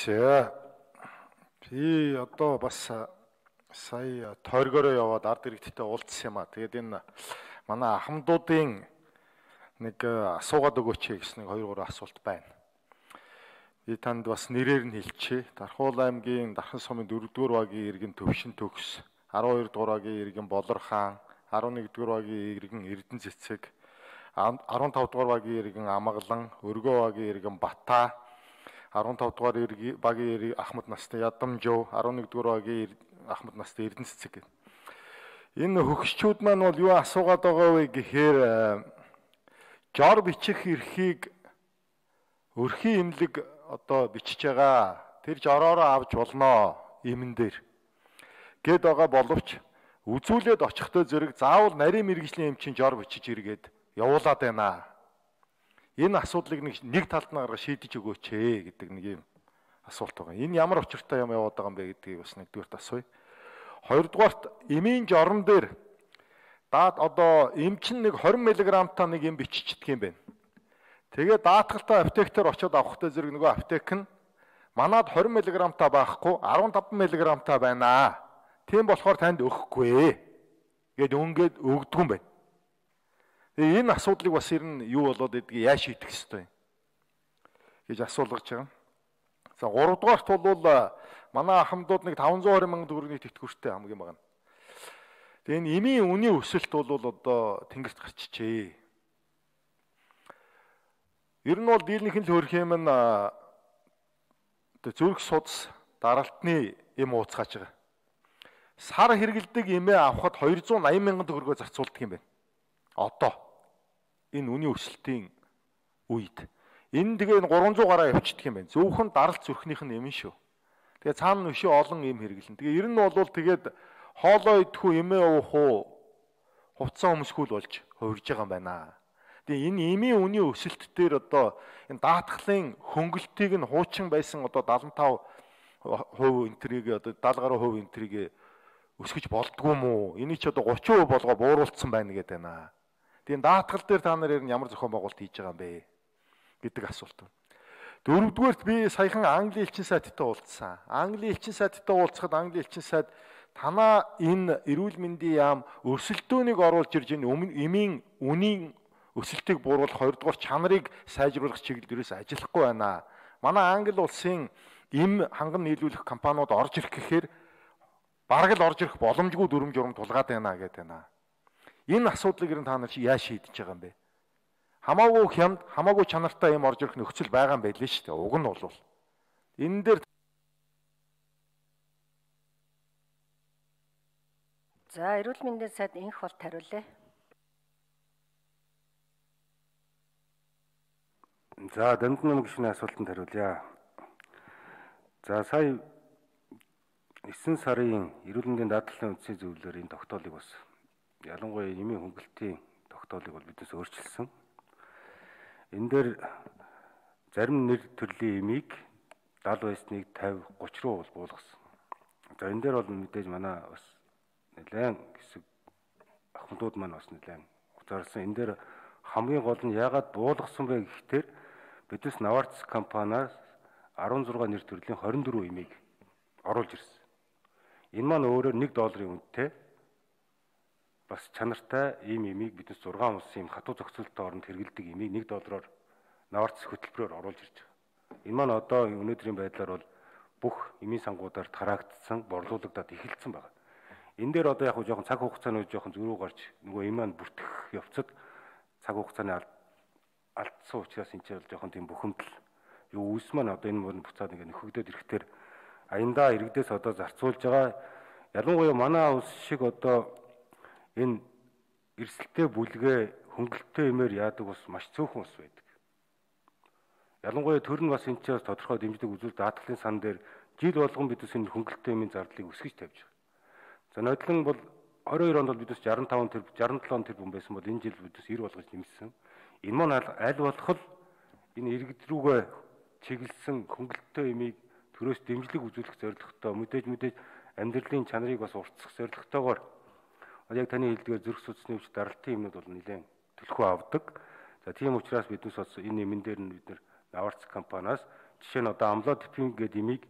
За би одоо бас сая тойргороо яваад ард иргэдтэй уулзсан юм а. Тэгээд энэ манай ахмадуудын нэг асуугаад өгөөч гэсэн нэг 2-3 асуулт байна. Би танд бас нэрээр нь хэлчихье. Дархуул аймгийн Дархан сумын 4-р багийн иргэн Төвшин төгс, 12-р багийн иргэн Болор хаан, 11-р багийн иргэн Эрдэнэ цэцэг, 15-р багийн иргэн Амгалан, Өргөө багийн иргэн Бата, 15-р багийн Ахмад настай Ядамжуу, 11-р багийн Ахмад настай Эрдэнэ цэцэг. Энэ хөгшчүүд маань бол юу асуугаад байгаа вэ гэхээр жор бичих эрхийг өрхийн имлэг одоо бичиж байгаа. Тэр жороороо авч болноо имэн дээр. Гэд байгаа боловч үзүүлээд очихтой зэрэг заавал нарийн мэргэжлийн эмчийн жор бичиж иргээд явуулаад байна. Энэ асуудлыг нэг талд нь гаргаж шийдэж өгөөч гэдэг нэг юм асуулт байгаа. Энэ ямар учиртай юм яваад байгаа юм бэ гэдгийг бас нэгдүгээрт асууя. Хоёрдугаарт эмийн жорон дээр даад одоо эмчин нэг 20 мг-та нэг юм биччихдэг юм байна. Тэгээ даатгалтай аптектээр очиод авахтай зэрэг нөгөө аптек нь манад 20 мг-та байхгүй 15 мг-та байна. Тийм болохоор танд өгөхгүй гэд өнгөд өгдөг юм байна. Тэгээ энэ асуудлыг бас ер нь юу болоод идгийг яаж шийдэх ёстой гэж асуулгаж байгаа. За 3 дугаарт бол манай ахмадууд нэг 520 мянган төгрөгийн тэтгэвртэй хамгийн бага. Тэгээ энэ эмийн үнийн өсөлт бол одоо тэнгэрт гарчжээ. Ер нь бол дийлэнх нь л хөрх юм нь зүрх судас даралтны эм ууцгааж байгаа. Сар хэрэгэлдэг эмээ авахд 280 мянган төгрөгөөр зарцуулдаг юм байна. Одоо энэ үнийн өсөлтийн үед энэ тэгээ 300 гараа явчихдаг юм байна. Зөвхөн даралт зүрхнийх нь юм шүү. Тэгээ цаана нүшээ олон юм хэрэглэн. Тэгээ ер нь бол тэгээд хоолоо идэхүү эмээ уух уу хувцсан өмсгүүл болж хувирж байгаа юм байна. Тэгээ энэ эмийн үнийн өсөлт дээр одоо энэ даатгалын хөнгөлтийг нь хуучин байсан одоо 75% энтрийг одоо 70% энтрийг өсгөж болдгоо юм уу? Энийг ч одоо 30% болгоо бууруулсан байна гэдэг байна. Тэгээ даатгал дээр та нар ямар зохион байгуулалт хийж байгаа юм бэ гэдэг асуулт. Дөрөвдүгээрт би саяхан Английн элчин сайттай уулзсан. Английн элчин сайттай уулзахад Английн элчин сайд танаа энэ эрүүл мэндийн яам өрсөлдөөнийг оруулж ирж энэ эмийн үнийн өсөлтийг бууруулах 2-р чанарыг сайжруулах чиглэлээрээс ажиллахгүй байна. Манай Англи улсын эм ханган нийлүүлэх компаниуд орж ирэх гэхээр бараг л орж ирэх боломжгүй дүрм журм тулгаад байна гэдэг байна. Энэ асуудлыг ер нь та нар яаж шийдэж байгаа юм бэ? Хамаагүй хямд, хамаагүй чанартай юм орж ирэх нөхцөл байгаа юм байл шүү дээ. Уг нь бол энэ дээр за эрүүл мэндийн сайд инх болт хариулъя. За дамжин гишүүний асуултанд хариулъя. За сая 9 сарын эрүүл мэндийн даатгалын үндсийн зөвлөлөөр энэ тогтоолыг бас ялангуяа эмийн хөнгөлтийн тогтоолыг бол биднээс өөрчилсөн. Энэ дээр зарим нэр төрлийн эмийг 70 байсныг 50, 30 руу бол буулгасан. За энэ дээр бол мэдээж манай бас нэлээд хэсэг ахмадууд маань бас нэлээд уцаарсан. Энэ дээр хамгийн гол нь яагаад буулгасан бэ гэхээр биднес Наварц компаниас 16 нэр төрлийн 24 эмийг оруулж ирсэн. Энэ маань өөрөөр $1 үнэтэй бас чанартай ийм эмийг биднес 6 улсын хатуу зохицуулалтын оронд хэрэгэлдэг эмийг $1-оор Наварц хөтөлбөрөөр оруулж ирж байгаа. Энэ маань одоо өнөөдрийн байдлаар бол бүх эмийн сангуудаар тараагдсан, борлуулагдаад эхэлсэн байна. Энэ дээр одоо яг жоохон цаг хугацааны жоохон зөрүү гарч нөгөө эм маань бүртгэх явцад цаг хугацааны алдсан учраас энэ ч бол жоохон тийм бухимдал юу үүс маань одоо энэ буцаад ингэ нөхөгдөд ирэхээр аяндаа иргэдээс одоо зарцуулж байгаа ялангуяа манай улс шиг одоо энэ эрсдэлтэй бүлгээ хөнгөлөлттэй эмээр яадаг бас маш цөөхөн ус байдаг. Ялангуяа төр нь бас энэ ч бас тодорхой дэмждэг үзүүл даатгалын сан дээр жил болгон бидээс энэ хөнгөлөлттэй эмийн зардлыг өсгөж тавьж байгаа. За нодлон бол 22 онд бол бидээс 67 тэрбум байсан бол энэ жил бидээс 90 болгож нэмсэн. Энэ маань аль болох энэ иргэд рүүгээ чиглэсэн хөнгөлөлттэй эмийг төрөөс дэмжлэг үзүүлэх зорилготой мэдээж амьдралын чанарыг бас уртсах зорилготойгоор яг таны хэлдгээр зүрх судасны өвч даралтын юмнууд бол нэлээд төлхөө авдаг. За тийм учраас биднес бас энэ эмэн дээр нь бид нэр Наварц компаниас Жишээ нь одоо амлодипин гэдэг имийг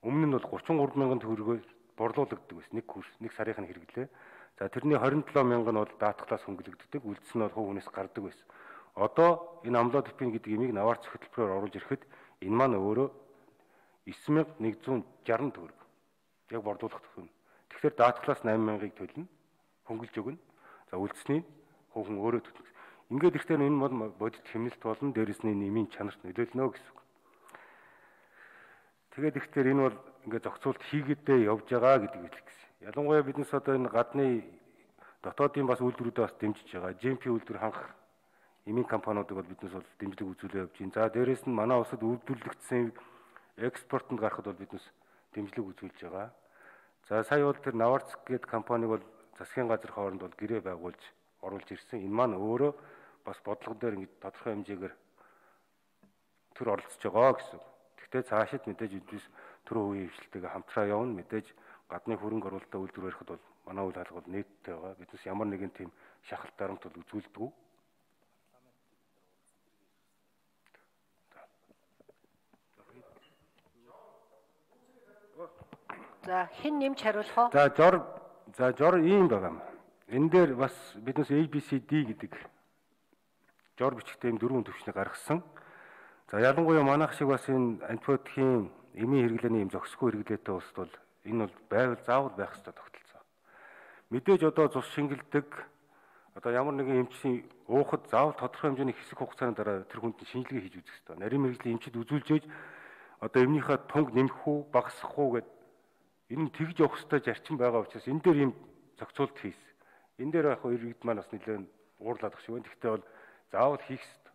өмнө нь бол 33 мянган төгрөгөөр борлуулагддаг байсан. Нэг сарынх нь хэрэглээ. За тэрний 27 мянга нь бол даатгалаас хөнгөлөгддөг, үлдс нь бол хувь хүнээс гардаг байсан. Одоо энэ амлодипин гэдэг имийг наваарц хөтөлбөрөөр оруулж ирэхэд энэ маань өөрөө 9160 төгрөг яг борлуулах төгрөг. Тэгэхээр даатгалаас 8000-ыг төлнө, хөнгөлж өгнө. За үлдсний хувь хүн өөрөө төлнө. Ингээд ихтэй энэ бол бодит хэмнэлт болно, дээрэс нь нэмийн чанарт нөлөөлнө гэсэн үг. Тэгээд ихтэй энэ бол ингээд зохицуулт хийгээдээ явж байгаа гэдэг хэлэх гэсэн. Ялангуяа биднес одоо энэ гадны дотоодын бас үйлдвэрүүдэд бас дэмжиж байгаа. GMP үйлдвэр хангах эмийн компаниудыг бол биднес бол дэмжлэг үзүүлээ явж байна. За дээрэс нь манай улсад үйлдвэрлэгдсэн экспортод гарахад бол биднес дэмжлэг үзүүлж байгаа. За сая бол тэр Наварц гэдэг компаниг бол засгийн газрын хооронд бол гэрээ байгуулж оруулж ирсэн. Энэ маань өөрөө бас бодлого дээр ингэж тодорхой хэмжээгээр төр оролцож байгаа гэсэн. Гэхдээ цаашид мэдээж биднес төрөө үеийн хвшилтэйгээ хамтраа явна. Мэдээж гадны хөрөнгө оруулалтаа үйлдвэр барихад бол манай үйл хаалга бол нийттэй байгаа. Биднес ямар нэгэн тийм шахалт дарамт бол үзүүлдэг. За хэн нэмж хариулах вэ? За жор ийм байгаа юм. Энэ дээр бас биднес ABCD гэдэг жор бичгтээ юм 4 төвчнийг гаргасан. За ялангуяа манайх шиг бас энэ антибиотикийн эмийн хэрэглээний юм зохисгүй хэрэглээтэй улсад бол энэ бол байвал заавал байх ёстой тогтолцоо. Мэдээж одоо цус шингэлдэг одоо ямар нэгэн эмчийн уухад заавал тодорхой хэмжээний хэсэг хугацааны дараа тэр хүнд шинжилгээ хийж үзэх ёстой. Нарийн мэргэжлийн эмчид үзүүлж ээж одоо эмнийхээ тунг нэмэх үү, багасгах уу гэдэг энэ тэгж явах ёстой зарчим байгаа учраас энэ дээр юм зохицуулт хийсэн. Энэ дээр яг иргэд маань бас нэлээд уурлаад ах шиг байна. Гэхдээ бол заавал хийх ёстой.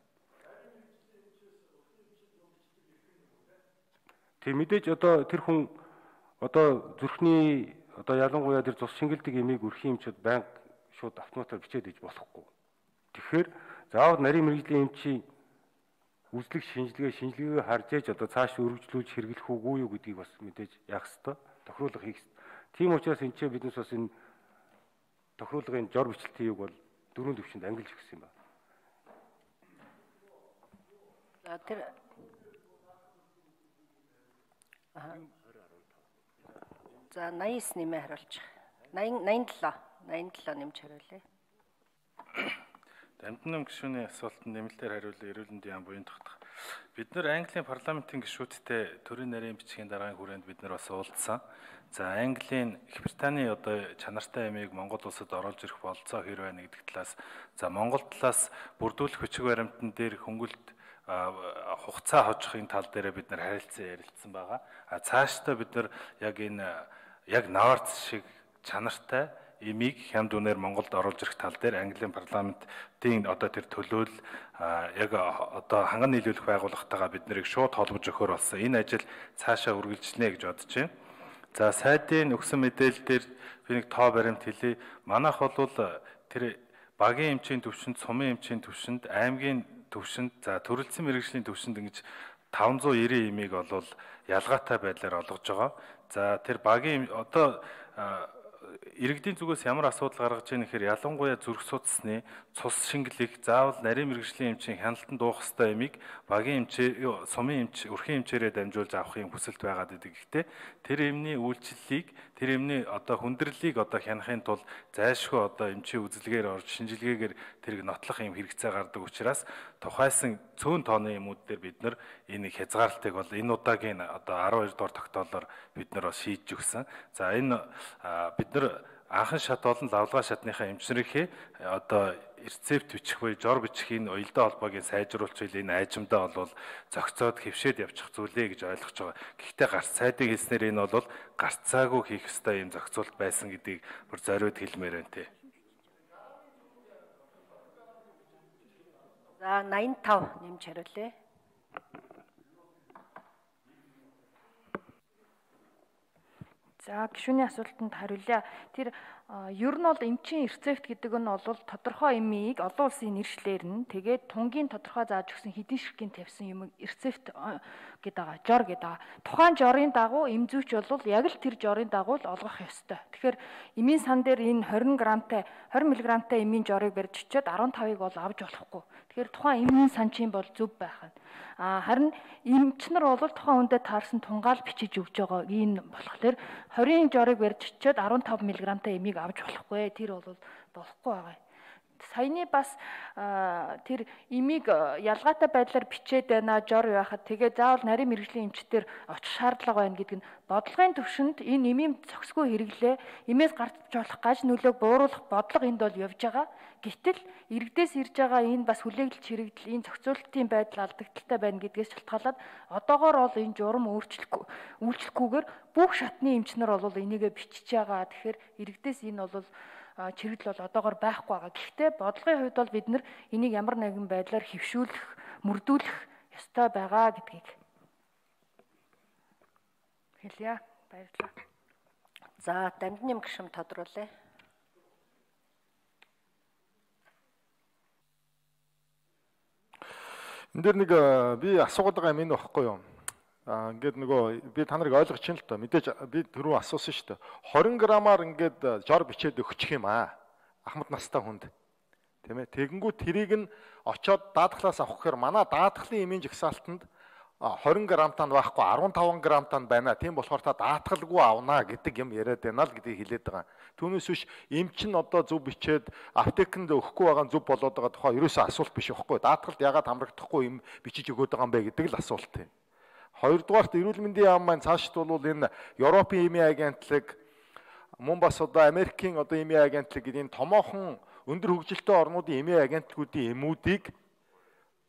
Тэг мэдээж одоо тэр хүн одоо зүрхний одоо ялангуяа тэр цус шингэлдэг эмийг өрхийн эмчүүд байнга шууд автоматар бичээд иж болохгүй. Тэгэхээр заавал нарийн мэргэжлийн эмчийн үзлэг шинжилгээ харж ээж одоо цааш өргөжлүүлж хэрэглэх үгүй юу гэдгийг бас мэдээж яах ёстой. Тохируулга хийх ёстой. Тийм учраас энэ ч биднес бас энэ тохируулгын жор бичлэлтийг бол 4 төвчөнд ангилж өгсөн юм байна. За тэр За 89 нэмээ хариулчих. 87 нэмж хариулъя. Дамжин гишүүний асуултанд нэмэлтээр хариулъя. Эрүүл мэндийн яам буян тогтох. Бид нэр Английн парламентын гишүүдтэй төрийн нарийн бичгийн дараагийн хүрээнд бид нар бас уулзсан. За Английн Их Британий одоо чанартай эмийг Монгол улсад оруулж ирэх бололцоо хэр байна гэдэг талаас за Монгол талаас бүрдүүлэх бичиг баримтан дээр хөнгөлт хугацаа хожихын тал дээр бид нар ярилцсан байгаа. Цаашдаа бид нар яг Наварц шиг чанартай эмийг хямд үнээр Монголд оруулж ирэх тал дээр Английн парламентын одоо тэр төлөөл яг одоо ханган нийлүүлэх байгууллагатайгаа бид нарыг шууд холбож өгөхөр болсон. Энэ ажил цаашаа үргэлжлэнэ гэж бодож байна. За сайдын өгсөн мэдээлэл дээр би нэг тоо баримт хэлье. Манайх бол тэр багийн эмчийн төвшөнд, сумын эмчийн төвшөнд, аймгийн төвшөнд, за төрөлцсөн мэргэжлийн төвшөнд ингэж 590 эмийг бол ялгаатай байдлаар олгож байгаа. За тэр багийн одоо иргэдийн зүгээс ямар асуудал гаргаж ийн гэхээр ялангуяа зүрх судасны цус шингэлэх заавал нарийн мэргэжлийн эмчийн хяналтанд дуух ёстой эмийг багийн эмчээр, сумын эмч, өрхийн эмчээрээ дамжуулж авахын хүсэлт байгаад идэг. Гэхдээ тэр эмний үйлчлэлийг, тэр эмний одоо хүндрэлийг одоо хянахын тулд зайлшгүй одоо эмчийн үзэлгээр орж шинжилгээгээр тэрийг нотлох юм хэрэгцээ гардаг учраас тухайсан цөөн тооны эмүүд дээр бид нар энэ хязгаарлалтыг бол энэ удаагийн одоо 12 дугаар тогтоолоор бид нар бас шийдэж өгсөн. За энэ бид нар анхан шат болон лавлгаа шатныхаа эмчнэрийнхээ одоо рецепт бичих буюу жор бичих энэ уялдаа холбоогийн сайжруулах хэл энэ айжмдаа бол зохицоод хэвшээд явчих зүйлээ гэж ойлгож байгаа. Гэхдээ гарц сайдын хэлснээр энэ бол гарцаагүй хийх ёстой юм зохицуулт байсан гэдгийг бүр зориуд хэлмээр байна те. За 85 нэмж хариулъя. За гишүүний асуултанд хариулъя. Тэр ер нь бол эмчийн рецепт гэдэг нь бол тодорхой эмийг олон улсын нэршлэр нь тэгээд тунгийн тодорхой зааж өгсөн хэдийн ширхгийн тавьсан юм рецепт гэдэг байгаа, жор гэдэг байгаа. Тухайн жорын дагуу эмзүүч бол яг л тэр жорын дагуу л олгох ёстой. Тэгэхээр эмийн сан дээр энэ 20 мг-тай эмийн жорыг барьж очиод 15-ыг бол авч болохгүй. Тэгэхээр тухайн эмийн санчийн бол зөв байх нь. Харин эмчнэр бол тухайн хүндэд таарсан тунгаал бичиж өгж байгаа. Энэ болохоор 20-ын жорыг барьж очиод 15 мг-тай эмийг авч болохгүй. Тэр бол болохгүй байгаа. Саяны бас тэр эмийг ялгаатай байдлаар бичээд байна жор байхад тэгээ заавал нарийн мэрэгжлийн эмчтэр очих шаардлага байна гэдэг нь бодлогын төвшөнд энэ эмийн зохисгүй хэрэглээ эмээс гарч болох гаж нөлөөг бууруулах бодлого энд бол явж байгаа. Гэтэл иргэдээс ирж байгаа энэ бас хүлээлт чирэгдэл энэ зохицуулалтын байдал алдагдaltaй байна гэдгээс шалтгаалаад одоогоор бол энэ журам үйлчлэхгүйгээр бүх шатны эмчнэр бол энийгээ бичиж байгаа. Тэгэхээр иргэдээс энэ бол чирэгдэл бол одоогоор байхгүй байгаа. Гэхдээ бодлогын хувьд бол бид нар энийг ямар нэгэн байдлаар хэвшүүлэх, мөрдүүлэх ёстой байгаа гэдгийг хэлье. Баярлалаа. За, Дамжны гишүүн тодруулъя. Энд дээр нэг би асуугаад байгаа юм энэ багхгүй юу? Ингээд нөгөө би та нарыг ойлгож чинь л тоо. Мэдээж би түрүү асуусан шүү дээ. 20 грамаар ингээд жор бичээд өгчих юм аа. Ахмад настай хүнд. Тийм ээ. Тэгэнгүүт тэрийг нь очоод даатгалаас авах гэхээр манай даатгалын эмийн жагсаалтанд 20 грамтаа байхгүй 15 грамтаа байна. Тийм болохоор та даатгалгүй авнаа гэдэг юм яриад байна л гэдгийг хэлээд байгаа. Түүнээс биш эмч нь одоо зөв бичээд аптекэнд өгөхгүй байгаа нь зөв болоод байгаа тухай ерөөсөө асуулт биш байхгүй. Даатгалд яагаад хамрагдахгүй юм бичиж өгöd байгаа юм бэ гэдэг л асуулт юм. Хоёрдугаарт эрүүл мэндийн яам маань цаашд бол энэ Европын эмийн агентлаг мөн бас одоо Америкийн одоо эмийн агентлаг гэдэг энэ томоохон өндөр хөгжилтэй орнуудын эмийн агентлагуудын эмүүдийг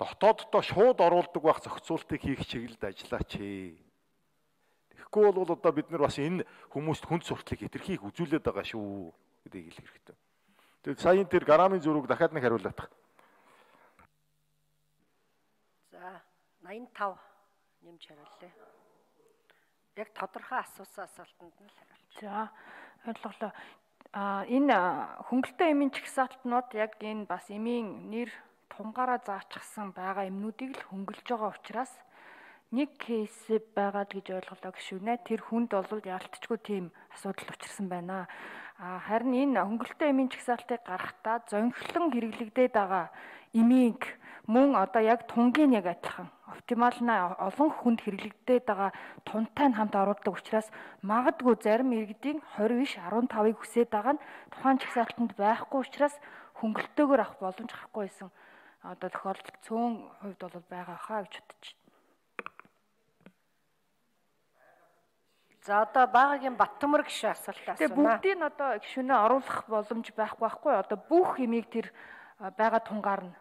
дотооддоо шууд оруулдаг байх зохицуултыг хийх чиглэлд ажиллаач. Тэгэхгүй бол одоо бид нар бас энэ хүмүүст хүнд сурталыг хэтэрхийх үзүүлээд байгаа шүү гэдгийг хэлэх хэрэгтэй. Тэгээд саяын тэр грамын зөрүүг дахиад нэг хариулах. За, 85 нэмж хариулъя. Яг тодорхой асуусан асуултанд нь л хариулж. За, ойлголоо. Энэ хөнгөлтэй эмийн чагсаалтнууд яг энэ бас эмийн нэр тунгаараа заачсан байгаа эмнүүдийг л хөнгөлж байгаа учраас нэг кейс байгаад гэж ойлголоо гişүнэ. Тэр хүнд бол яалтчгүй тийм асуудал учирсан байна. Харин энэ хөнгөлтэй эмийн чагсаалтыг гаргахдаа зонхлон хэрэглэгдээд байгаа эмийг мөн одоо яг тунгийн яг адилхан оптимална олон хүнд хэрэглэгдээд байгаа тунтай нь хамт оруулдаг учраас магадгүй зарим иргэдийн 20 биш 15-ыг хүсээд байгаа нь тухайн чагсаалтанд байхгүй учраас хөнгөлтөөгөр авах боломж гарахгүй байсан. Одоо тохиолдол цөөн хувьд бол байгаа хаа гэж бодож байна. За, одоо багагийн Баттөмөр гişүн асуулт асуунаа. Тэгээ бүгдийг нь одоо гişүнээ оруулах боломж байхгүй. Одоо бүх эмийг тэр байгаа тунгаар нь